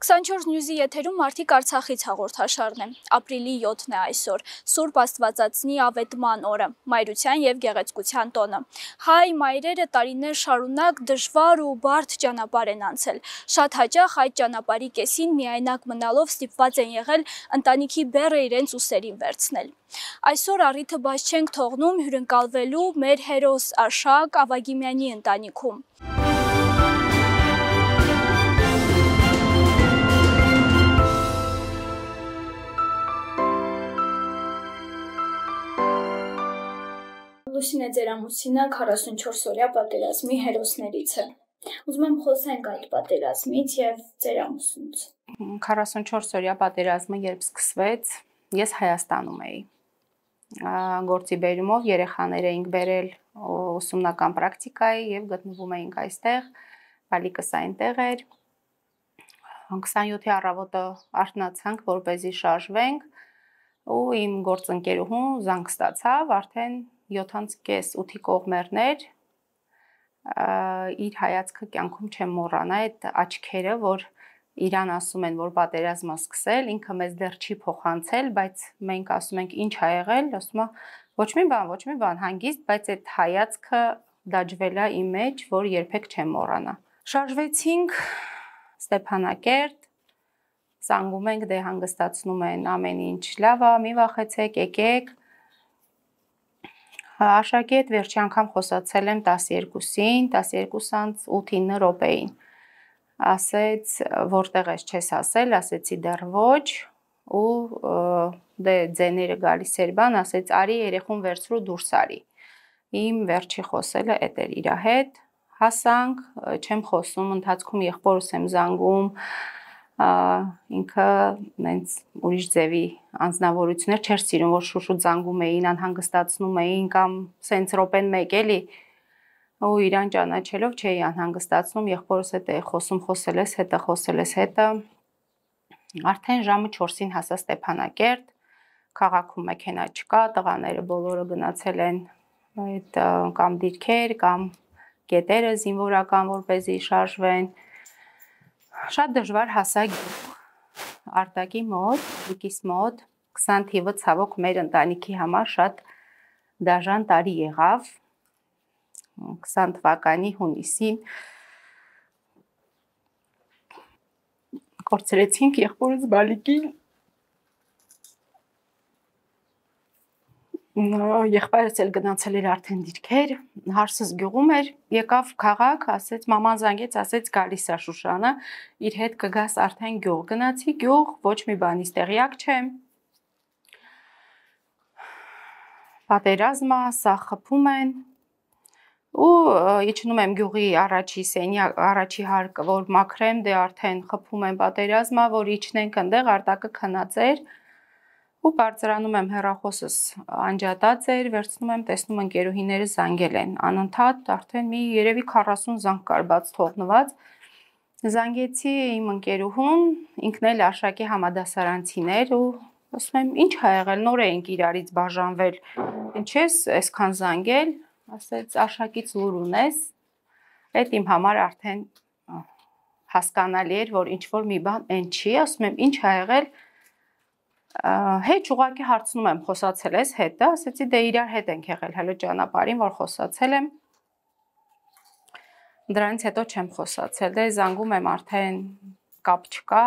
24 News-ի եթերում Մարդիկ Արցախից հաղորդաշարն է։ Ապրիլի 7-ն է այսօր, Սուրբ Աստվածածնի ավետման օրը, մայրության և գեղեցկության տոնը։ Հայ մայրերը տարիներ շարունակ դժվար ու բարդ ճանապարհ են անցել։ Շատ հաճախ այդ ճանապարհի կեսին միայնակ մնալով ստիպված են եղել ընտանիքի բեռը իրենց ուսերին վերցնել։ Այսօր առիթը բաց չենք թողնում հյուրընկալվելու մեր հերոս Արշակ Ավագիմյանի ընտանիքում։ Լուսինե ձեր ամուսինը 44-օրյա պատերազմի հերոսներից է։ Ուզում եմ խոսենք այդ պատերազմից և ձեր ամուսնուց։ 44-օրյա պատերազմը երբ սկսվեց, ես Հայաստանում էի։ Գործի բերումով երեխաներ էինք բերել ուսումնական պրակտիկայի և գտնվում էինք այստեղ, բալիկս այնտեղ էր։ 27-ի առավոտը արթնացանք, որպեսզի շարժվենք, ու իմ գործընկերուհուն զանգ ստացավ, արդեն 7:30-8-ի կողմերն էր, իր հայացքը կյանքում չեմ մոռանա, այդ աչքերը, որ իրան ասում են, որ պատերազմը սկսել, ինքը մեզ դեռ չի փոխանցել, բայց մենք ասում ենք ինչ ա եղել, ասում է ոչ մի բան, հանգիստ, բայց այդ հայացքը դաջվել է իմ մեջ, որ երբեք չեմ մոռանա։ Շարժվեցինք Ստեփանակերտ, զանգում ենք, դե հանգստացնում են ամեն ինչ լավ է, մի վախեցեք, եկեք։ Արշակի հետ վերջի անգամ խոսացել եմ 12-ին, 12:08-9 րոպեին։ Ասեց, որտեղ ես չես ասել, ասեցի դեռ ոչ, ու դե ձեները գալիս էր բան, ասեց արի երեխուն վերցրու դուրս արի։ Իմ վերջի խոսելը էդ էր իր հետ, հասանք, չեմ խոսում, ընթացքում եղբորս եմ զանգում, ինքը նենց ուրիշ ձևի անձնավորություններ չէր սիրում, որ շուշուտ զանգում էին, անհանգստացնում էին կամ սենց րոպեն մեկ էլի, ու իրան ճանաչելով չէի անհանգստացնում, եղբորս հետ է խոսել ես հետը, արդեն ժամը 4-ին հասա Ստեփանակերտ, քաղաքում մեքենա չկա, տղաները բոլորը գնացել են այդ կամ դիրքեր, կամ կետերը զինվորական, որպեսզի շարժվեն, շատ դժվար հասա գյուղ, Արտակի մոտ, Լիկիս մոտ, 20 թիվը ցավոք մեր ընտանիքի համար շատ դաժան տարի եղավ, 20 թվականի հունիսին կորցրեցինք եղբորս բալիկին, եղբայրս էլ գնացել էր արդեն դիրքեր, հարսս գյուղում էր, եկավ քաղաք, ասեց մաման զանգեց, ասեց գալիս է Շուշանը, իր հետ կգաս արդեն գյուղ, գնացի գյուղ, ոչ մի բանից տեղյակ չեմ, պատերազմա, սա խփում են, ու իջնում եմ գյուղի առաջի հարկը, որ մաքրեմ, դե արդեն խփում են պատերազմա, որ իջնենք ընդեղ, Արտակը քնած էր, ու բարձրանում եմ հեռախոսս անջատած էր, վերցնում եմ, տեսնում ընկերուհիները զանգել են, անընդհատ արդեն մի երևի 40 զանգ կար բաց թողնված, զանգեցի իմ ընկերուհուն, ինքն էլ Արշակի համադասարանցին էր ու ասում եմ ինչ ա եղել, նոր էինք իրարից բաժանվել, ինչ ես այսքան զանգել, ասեց Արշակից լուր ունես, այդ իմ համար արդեն հասկանալի էր, որ ինչ որ մի բան են չի, ասում եմ ինչ ա եղել, հետ ուղղակի հարցնում եմ խոսացել ես հետը, ասեցի դե իրար հետ ենք եղել հələ ճանապարհին, որ խոսացել եմ, դրանից հետո չեմ խոսացել, դե զանգում եմ արդեն կապ չկա,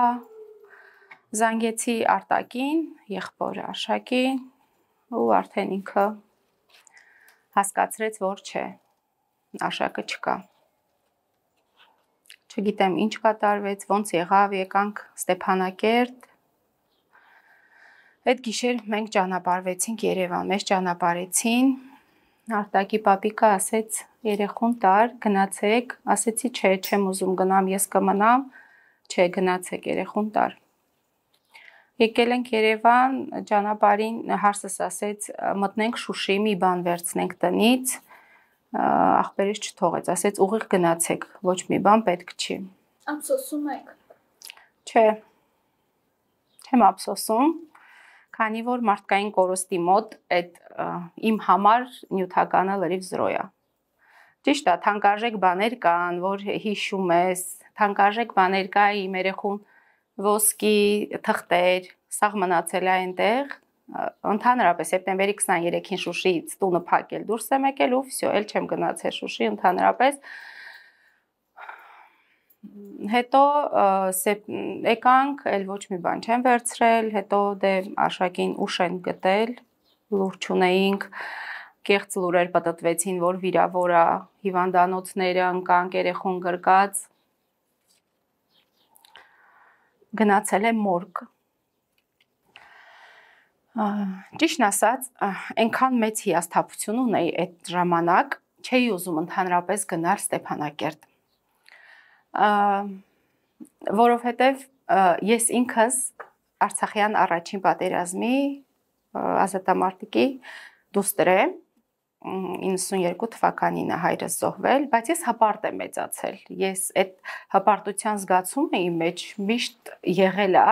զանգեցի Արտակին, եղբոր Արշակին, ու արդեն ինքը հասկացրեց, որ չէ, Արշակը չկա, չգիտեմ ինչ կատարվեց, ոնց եղավ, եկանք Ստեփանակերտ, այդ գիշեր մենք ճանապարհվեցինք Երևան, մեզ ճանապարհեցին, Արտակի պապիկը ասեց երեխուն տար, գնացեք, ասեցի չէ, չեմ ուզում գնամ, ես կմնամ, չէ, գնացեք երեխուն տար։ Եկել ենք Երևան, ճանապարհին հարսս ասեց մտնենք Շուշի, մի բան վերցնենք տնից, ախպերս չթողեց, ասեց ուղիղ գնացեք, ոչ մի բան պետք չի։ Ափսոսում եք։ Չէ, չեմ ափսոսում, քանի որ մարդկային կորստի մոտ այդ իմ համար նյութականը լրիվ զրո է։ Ճիշտ է, թանկարժեք բաներ կան, որ հիշում ես, թանկարժեք բաներ կա իմ երեխուն ոսկի թղթեր, սաղ մնացել է այնտեղ, ընդհանրապես սեպտեմբերի 23-ին Շուշիից տունը փակել, դուրս եմ եկել ու վсё, էլ չեմ գնացել Շուշի ընդհանրապես։ Հետո եկանք, էլ ոչ մի բան չեմ վերցրել, հետո դե Աշակին ուշ են գտել, լուր չունեինք, կեղծ լուրեր պատտվեցին, որ վիրավոր է, հիվանդանոցները ընկանք, երեխուն գրկած, գնացել եմ մորգ։ Ճիշտն ասած, այնքան մեծ հիասթափություն ունեի այդ ժամանակ, չէի ուզում ընդհանրապես գնալ Ստեփանակերտ։ Որովհետև ես ինքս Արցախյան առաջին պատերազմի ազատամարտիկի դուստր եմ, 92 թվականին է հայրս զոհվել, բայց ես հպարտ եմ մեծացել։ Ես այդ հպարտության զգացումը իմ մեջ միշտ եղել է,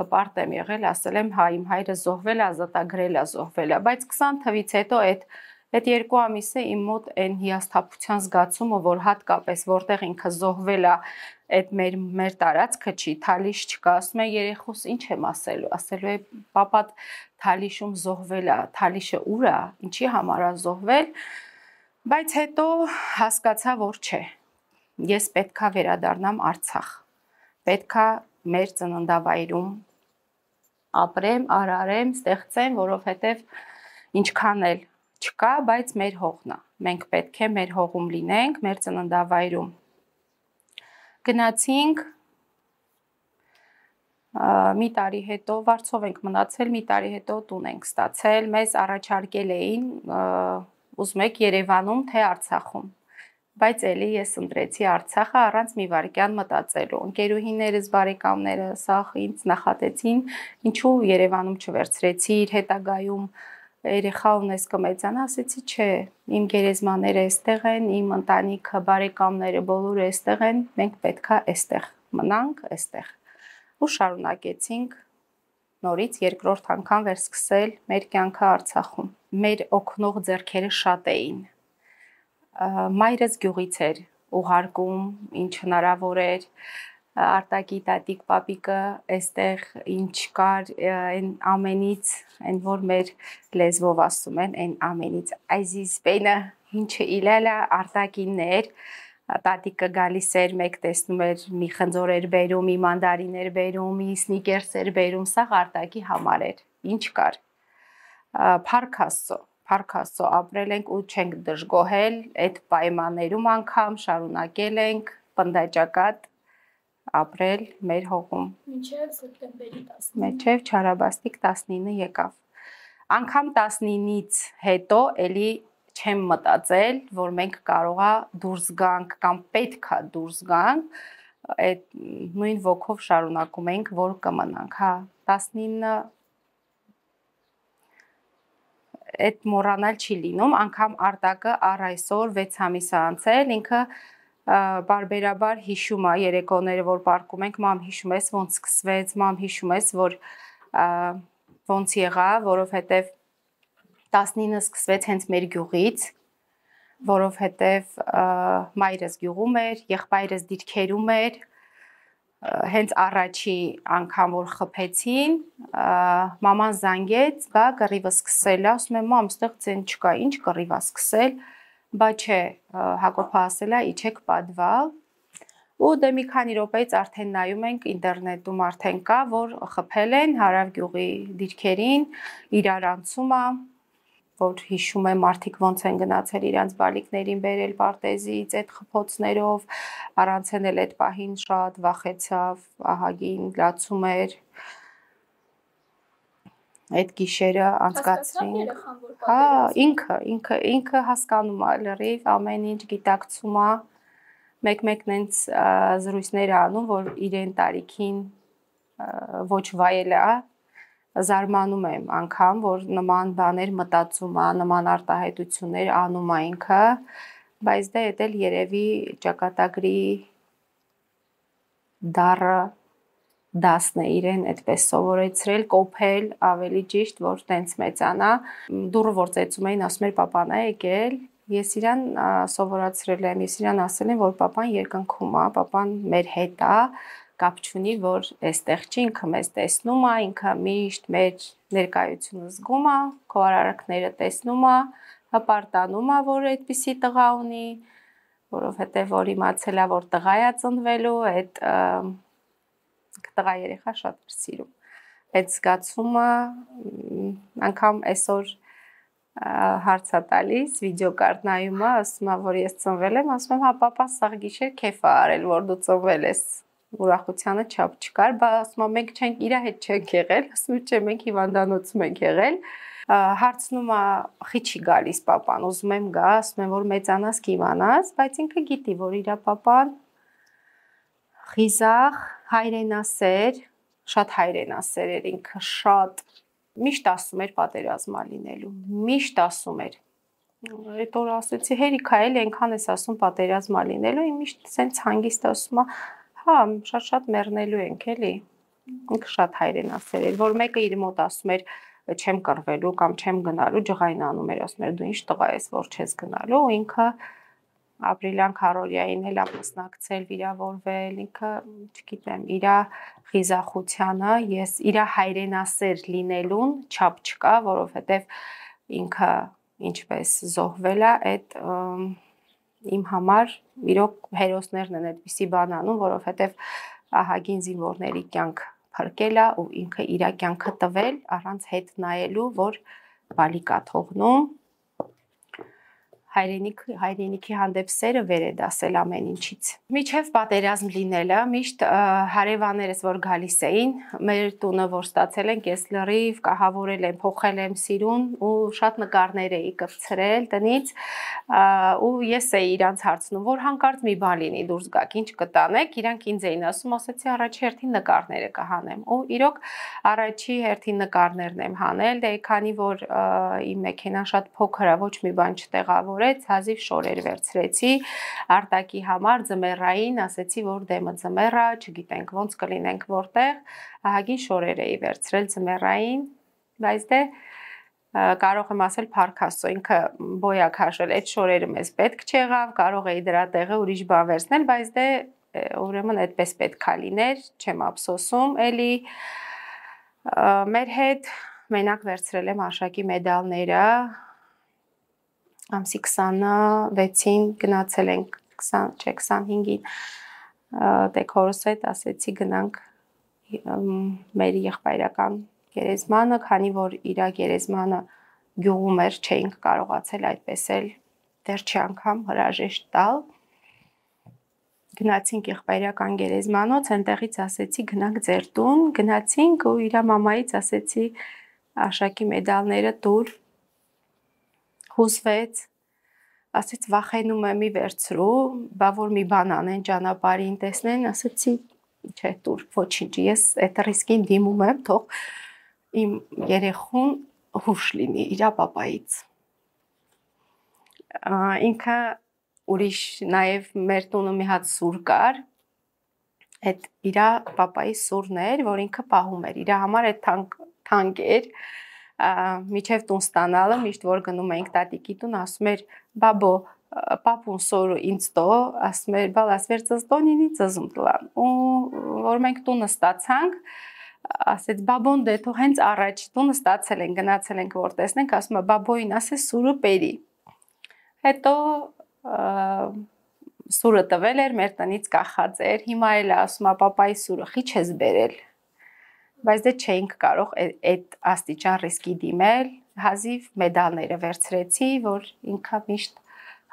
հպարտ եմ եղել, ասել եմ, հա, իմ հայրը զոհվել է, ազատագրել է, զոհվել է, բայց 20 թվից հետո այդ 2 ամիսը իմ մոտ այն հիասթափության զգացումը, որ հատկապես որտեղ ինքը զոհվել է, այդ մեր տարածքը չի, Թալիշ չկա, ասում է երեխուս ինչ եմ ասելու, ասելու է պապատ Թալիշում զոհվել է, Թալիշը ուր է, ինչի համար է զոհվել, բայց հետո հասկացա, որ չէ, ես պետքա վերադառնամ Արցախ, պետքա մեր ծննդավայրում ապրեմ, արարեմ, ստեղծեմ, որովհետև ինչքան էլ չկա, բայց մեր հողն է, մենք պետք է մեր հողում լինենք, մեր ծննդավայրում։ Գնացինք, մի տարի հետո Վարչով ենք մնացել, մի տարի հետո տուն ենք ստացել, մեզ առաջարկել էին, ուզում եք Երևանում, թե Արցախում, բայց էլի ես ընտրեցի Արցախը առանց մի վայրկյան մտածելու, ընկերուհիներս, բարեկամներս սաղ ինձ նախատեցին, ինչու Երևանում չվերցրեցի, իր հետագայում երեխա ունես կմեծանա, ասեցի չէ, իմ գերեզմաները այստեղ են, իմ ընտանիքը, բարեկամները բոլորը այստեղ են, մենք պետքա այստեղ մնանք, այստեղ։ Ու շարունակեցինք նորից երկրորդ անգամ վերսկսել մեր կյանքը Արցախում։ Մեր օգնող ձեռքերը շատ էին։ Մայրս գյուղից էր ուղարկում, ինչ հնարավոր էր, Արտակի տատիկ պապիկը այստեղ ինչ կար այն ամենից, այն որ մեր լեզվով ասում են, այն ամենից այսիս պենը ինչը իլելա Արտակիններ, տատիկը գալիս էր, մեկ տեսնում էր մի խնձոր էր բերում, մի մանդարին էր բերում, մի սնիկերս էր բերում, սա Արտակի համար էր, ինչ կար։ Փառք Աստծո ապրել ենք ու չենք դժգոհել, այդ պայմաններում անգամ շարունակել ենք պնդաճակատ ապրել մեր հողում։ Մինչև սեպտեմբերի 19։ Մինչև Չարաբաստիկ 19 եկավ։ Անգամ 19-ից հետո էլի չեմ մտածել, որ մենք կարողա դուրս գանք կամ պետքա դուրս գանք, այդ նույն ոգով շարունակում ենք, որ կմնանք, հա, 19 այդ մոռանալ չի լինում, անգամ Արտակը առ այսօր 6 ամիս է անցել, ինքը բարբերաբար հիշում է երեկոները, որ պարկում ենք, մամ հիշում ես ոնց սկսվեց, մամ հիշում ես, որ ոնց եղավ, որովհետև 19-ը սկսվեց հենց մեր գյուղից, որովհետև մայրս գյուղում էր, եղբայրս դիրքերում էր, հենց առաջի անգամ որ խփեցին, մաման զանգեց, բա կռիվը սկսել է, ասում եմ, մամ, ստեղ ցեն չկա, ինչ կռիվա սկսել, բա չէ, Հակոբը ասել է, իջեք պատվալ, ու դե մի քանի րոպեից արդեն նայում ենք ինտերնետում արդեն կա, որ խփել են Հարավ գյուղի դիրքերին, իրար անցում է, որ հիշում եմ մարդիկ ոնց են գնացել իրանց բալիկներին բերել պարտեզից այդ խփոցներով, առանց են էլ այդ պահին շատ վախեցավ, ահագին լացում էր, այդ գիշերը անցկացրինք, հա, ինքը հասկանում է լրիվ, ամեն ինչ գիտակցում է, մեկ-մեկն հենց զրույցներ անում, որ իրեն տարիքին ոչ վայել է, զարմանում եմ անգամ, որ նման բաներ մտածում է, նման արտահայտություններ անում է ինքը, բայց դա էլ երևի ճակատագրի դառը դասն է իրեն այդպես սովորեցրել, կոփել, ավելի ճիշտ, որ տենց մեծանա, դուրը որ ծեծում էին, ասում էր պապան է եկել, ես իրան սովորացրել եմ, ես իրան ասել եմ, որ պապան երկնքում է, պապան մեր հետ է, կապ չունի, որ այստեղ չի, ինքը մեզ տեսնում է, ինքը միշտ մեր ներկայությունը զգում է, քո արարքները տեսնում է, հպարտանում է, որ այդպիսի տղա ունի, որովհետև որ իմացել է, որ տղա է ծնվելու, այդ տղա երեխա շատ էր սիրում։ Այդ զգացումը անգամ այսօր հարց է տալիս, վիդեոկարտ նայում է, ասում է, որ ես ծնվել եմ, ասում եմ, հա, պապա սաղ գիշեր քեֆ է արել, որ դու ծնվել ես, ուրախությանը չափ չկար, բա ասում է, մենք չենք իր հետ չենք եղել, ասում է, չէ, մենք հիվանդանոցում ենք եղել, հարցնում է, խի չի գալիս պապան, ուզում եմ գա, ասում եմ, որ մեծանաս կիմանաս, բայց ինքը գիտի, որ իր պապան խիզախ, հայրենասեր, շատ հայրենասեր էր ինքը, շատ միշտ ասում էր պատերազմա լինելու, միշտ ասում էր, այդ օր ասեցի, հերիքա էլի այնքան ես ասում պատերազմա լինելու, միշտ սենց հանգիստ ասում է, հա, շատ մեռնելու ենք էլի, ինքը շատ հայրենասեր էր, որ մեկը իր մոտ ասում էր, չեմ կռվելու կամ չեմ գնալու, ջղային անում էր, ասում էր, դու ինչ տղա ես, որ չես գնալու, ինքը ապրիլյան քարորիային էլ ամուսնակցել, վիրավորվել, ինքը, չգիտեմ, իր խիզախությանը, ես իր հայրենասեր լինելուն չափ չկա, որովհետև ինքը ինչպես զոհվել է, այդ իմ համար իրոք հերոսներն են այդպիսի բան անում, որովհետև ահագին զինվորների կյանք փրկել է ու ինքը իր կյանքը տվել առանց հետ նայելու, որ բալիկ է թողնում, հայրենիքի հանդեպ սերը վեր է դասել ամեն ինչից։ Միջև պատերազմ լինելը, միշտ հարևաններս, որ գալիս էին, մեր տունը, որ ստացել ենք, ես լրիվ կահավորել եմ, փոխել եմ սիրուն ու շատ նկարներ էի կպցրել տնից ու ես էի իրանց հարցնում, որ հանկարծ մի բան լինի, դուրս գաք, ինչ կտանեք, իրանք ինձ էին ասում, ասեցի առաջի հերթին նկարները կհանեմ ու իրոք առաջի հերթին նկարներն եմ հանել, դե քանի որ իմ մեքենան շատ փոքր է, ոչ մի բան չտեղավոր հազիվ շորեր վերցրեցի արտակի համար ձմեռային, ասեցի, որ դեմը ձմեռ է, չգիտենք ոնց կլինենք որտեղ, ահագին շորեր էի վերցրել ձմեռային, բայց դե կարող եմ ասել փառք Աստծո, ինքը բոյա քաշել, այդ շորերը մեզ պետք չեղավ, կարող էի դրա տեղը ուրիշ բան վերցնել, բայց դե ուրեմն այդպես պետք է լիներ, չեմ ափսոսում, էլի մեր հետ մենակ վերցրել եմ Արշակի մեդալները, ամսի 26-ին գնացել ենք 25-ին տեքորս հետ ասեցի գնանք մեր եղբայրական գերեզմանը, քանի որ իր գերեզմանը գյուղում էր, չէինք կարողացել այդպես էլ վերջի անգամ հրաժեշտ տալ։ Գնացինք եղբայրական գերեզմանոց, այնտեղից ասեցի գնանք ձեր տուն, գնացինք ու իր մամայից ասեցի Արշակի մեդալները տուր, հուզվեց, ասեց վախենում եմ մի վերցրու, բա որ մի բան անեն ճանապարհին տեսնեն, ասեցի չէ տուր, ոչինչ, ես այդ ռիսկին դիմում եմ, թող իմ երեխուն հուշ լինի իր պապայից։ Ինքը ուրիշ նաև մեր տունը մի հատ սուր կար, այդ իր պապայի սուրն էր, որ ինքը պահում էր, իր համար այդ թանկ էր, միջև տուն ստանալը, միշտ որ գնում էինք տատիկի տուն, ասում էր բաբո, պապուն սորը ինձ տո, ասում էր բալաս վեր ծզտոնինի ծզում տլան, ու որ մենք տունը ստացանք, ասեց բաբոն դե թող հենց առաջ տունը ստացել են, գնացել ենք որ տեսնենք, ասում է բաբոին ասես սուրը պերի, հետո սուրը տվել էր, մեր տնից կախած էր, հիմա էլ ասում է պապայի սուրը խի չես բերել, բայց դե չէինք կարող այդ աստիճան ռիսկի դիմել, հազիվ մեդալները վերցրեցի, որ ինքը միշտ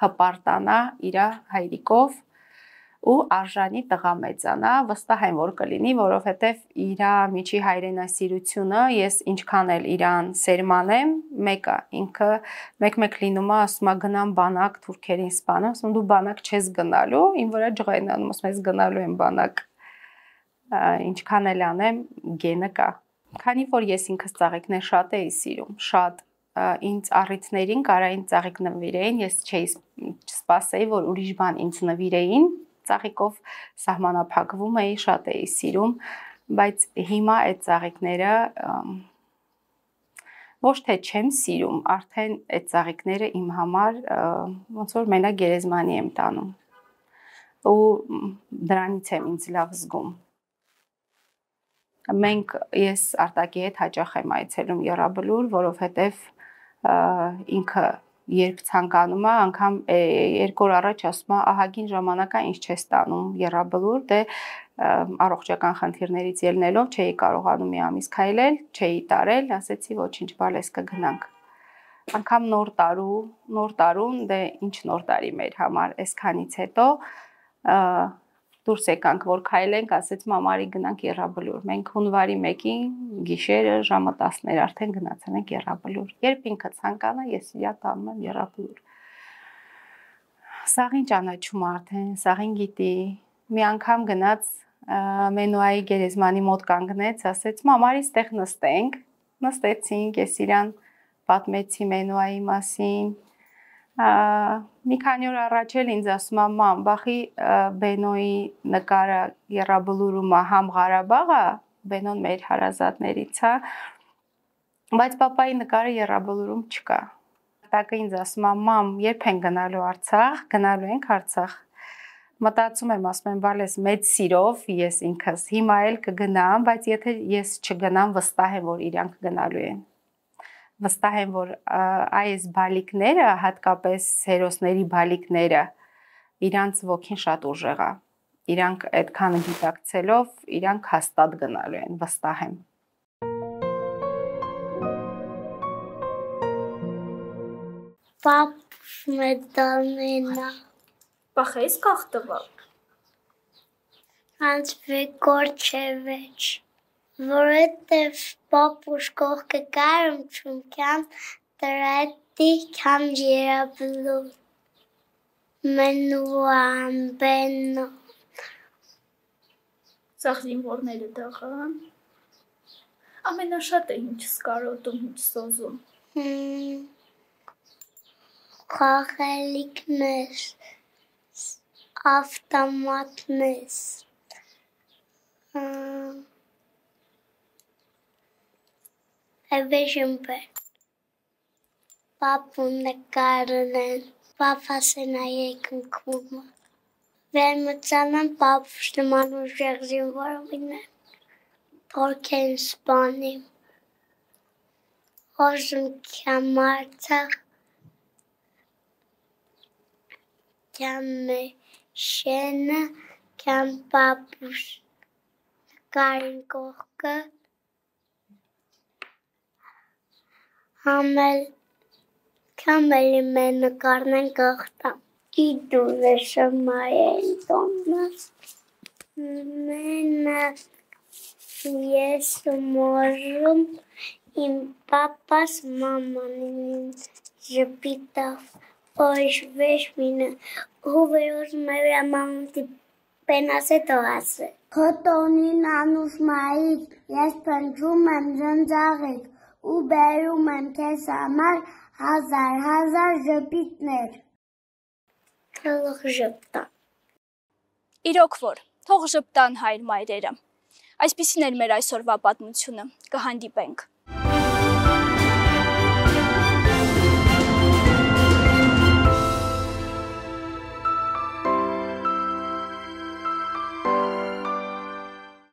հպարտանա իր հայրիկով ու արժանի տղա մեծանա, վստահ եմ որ կլինի, որովհետև իր միջի հայրենասիրությունը ես ինչքան էլ իրան սերմանեմ, մեկը ինքը մեկ-մեկ լինում է, ասում է գնամ բանակ թուրքերին սպանեմ, ասում դու բանակ չես գնալու, իմ վրա ջղային անում, ասում ես գնալու եմ բանակ, ինչքան էլ անեմ գենը կա, քանի որ ես ինքս ծաղիկներ շատ էի սիրում, շատ ինձ առիթներին կարային ծաղիկ նվիրեին, ես չէի սպասեի, որ ուրիշ բան ինձ նվիրեին, ծաղիկով սահմանափակվում էի, շատ էի սիրում, բայց հիմա այդ ծաղիկները ոչ թե չեմ սիրում, արդեն այդ ծաղիկները իմ համար ոնց որ մենակ գերեզմանի եմ տանում ու դրանից եմ ինձ լավ զգում։ ես Արտակի հետ հաճախ եմ այցելում Եռաբլուր, որովհետև ինքը երբ ցանկանում է, անգամ 2 օր առաջ ասում է, ահագին ժամանակա ինչ չես տանում Եռաբլուր, դե առողջական խնդիրներից ելնելով չէի կարողանում մի ամիս քայլել, չէի տարել, ասեցի ոչինչ, բալես կգնանք։ Անգամ նոր տարուն, դե ինչ նոր տարի մեր համար, այսքանից հետո դուրս եկանք, որ քայլենք, ասեց մամարի գնանք Եռաբլուր։ Մենք հունվարի 1-ին գիշերը ժամը 10-ներ արդեն գնացել ենք Եռաբլուր։ Երբ ինքը ցանկանա, ես իրա տանում եմ Եռաբլուր։ Սաղին ճանաչում արդեն, սաղին գիտի։ Մի անգամ գնաց Մենուայի գերեզմանի մոտ կանգնեց, ասեց մամարի ստեղ նստենք։ Նստեցինք, ես իրան պատմեցի Մենուայի մասին։ Մի քանի օր առաջ էլ ինձ ասում է մամ, բախի Բենոյի նկարը Եռաբլուրում է համ Ղարաբաղը, Բենոն մեր հարազատներից է, բայց պապայի նկարը Եռաբլուրում չկա։ Տակը ինձ ասում է մամ, երբ են գնալու Արցախ, գնալու ենք Արցախ։ Մտածում եմ, ասում եմ, բալես մեծ սիրով ես ինքս հիմա էլ կգնամ, բայց եթե ես չգնամ, վստահ եմ, որ իրանք գնալու են։ Վստահ եմ, որ այս բալիկները, հատկապես հերոսների բալիկները, իրանց ոգին շատ ուժեղ է։ Իրանք այդքան գիտակցելով, իրանք հաստատ գնալու են, վստահ եմ։ Պապ մեդանենա։ Բախես կախտվա։ Անց վեկորչևեչ։ Որովհետև պապուշ կողքը կարում չունքյան տրետի կամ Եռաբլուր։ Մենուան, Բենո։ Սաղ զինվորները դղան։ Ամենաշատը ինչ սկարոտում, ինչ սոզում։ Խաղելիքներ, ավտոմատներ։ Էվեժմբեր։ Պապուն նկարն են, պապասեն այեք ընկումը։ Վերմծանան պապուշ նման ուժեղ զինվորովին են, որք են սպանիմ։ Հոժում կյամ Արցախ, կյամ շենը, կյամ պապուշ նկարին կողքը, Համելի մեն նկարն են կղտամ։ Գիտուր է շմայեն տոննաս։ Մենը ես մոժում իմ պապաս մամանին ժպիտավ օժվեշ մինը հուվերոզ մայվրա մամունտի պենաս է տողասը։ Հոտոնին անուս մայիկ, ես պնջում եմ զնձաղիկ ու բերում եմ քեզ համար հազար ժպիտներ։ Թող ժպտան։ Իրոք որ, թող ժպտան հայր մայրերը։ Այսպիսին էր մեր այսօրվա պատմությունը, կհանդիպենք։